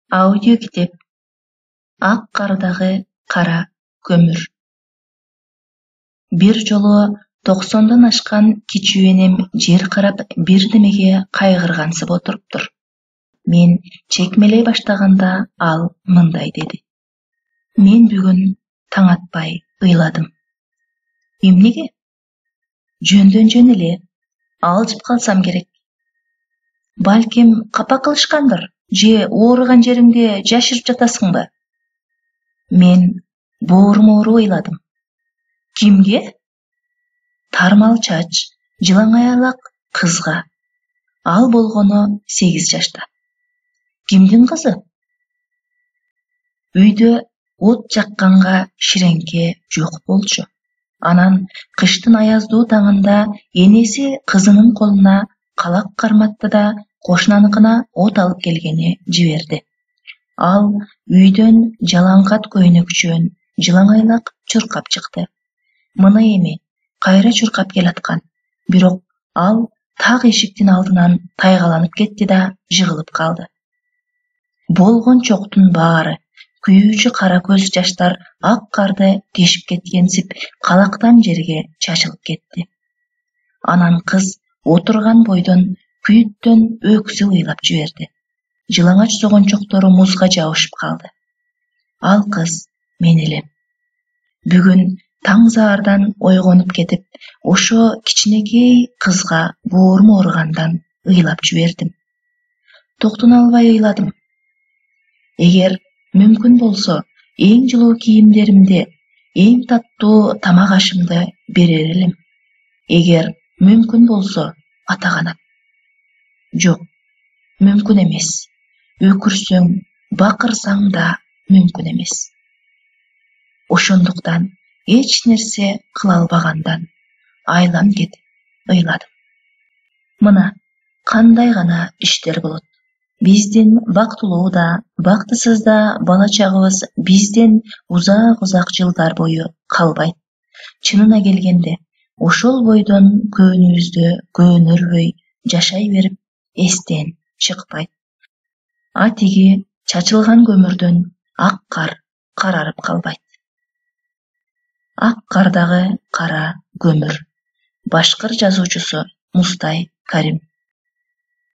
Аудио китеп Ак кардагы кара көмүр. Бир жолу 90дон ашкан кичүү энем жер карап бирдемеге кайгыргансып отуруптур. Мен чекмелей баштаганда ал мындай деди: Мен бүгүн таң атпай ыйладым. Эмнеге? Жөндөн жөн эле алжып калсам керек. Балким капа кылышкандыр, же ооруган жериңде жашырып жатасыңбы? Мен бооруму ыйладым. Кимге? Тармал чач, жылаң аялак кызга. Ал болгону 8 жашта. Кимдин кызы? Үйдө от жакканга ширеңке жок болчу. Анан кыштын аяздуу таңында энеси кызынын колуна калак карматты да кошунаныкына от алып келгени жиберди. Ал үйдөн жалаңкат көйнөкчөн жылаң айлак чуркап чыкты. Мына эми кайра чуркап келаткан, бирок ал так эшиктин алдынан тайгаланып кетти да жыгылып калды. Болгон чоктун баары, күйүүчү кара көз жаштар ак карды тешип кеткенсип калактан жерге чачылып кетти. Анан кыз отурган бойдон күйүттөн өксүп ыйлап жиберди. Жылаңач согончоктору музга жабышып калды. Ал кыз мен элем. Бүгүн таң заардан ойгонуп кетип, ошо кичинекей кызга боорум ооругандан ыйлап жибердим. Токтоно албай ыйладым. Эгер мүмкүн болсо, эң жылуу кийимдеримди, эң таттуу тамак ашымды берер элем. Эгер мүмкүн болсо, ата канат. Жок, мүмкүн эмес. Өкүрсөң, бакырсаң да мүмкүн эмес. Ошондуктан эч нерсе кыла албагандан айлам кетип ыйладым. Мына кандай гана иштер болот. Биздин бактылуу да, бактысыз да бала чагыбыз бизден узак жылдар бою калбайт. Чынына келгенде, ошол бойдон көөнүбүздө көөнөрбөй жашай берип эстен чыкпайт. А тиги чачылган көмүрдөн ак кар карарып калбайт. Ак кардагы кара көмүр. Башкыр жазуучусу Мустай Карим.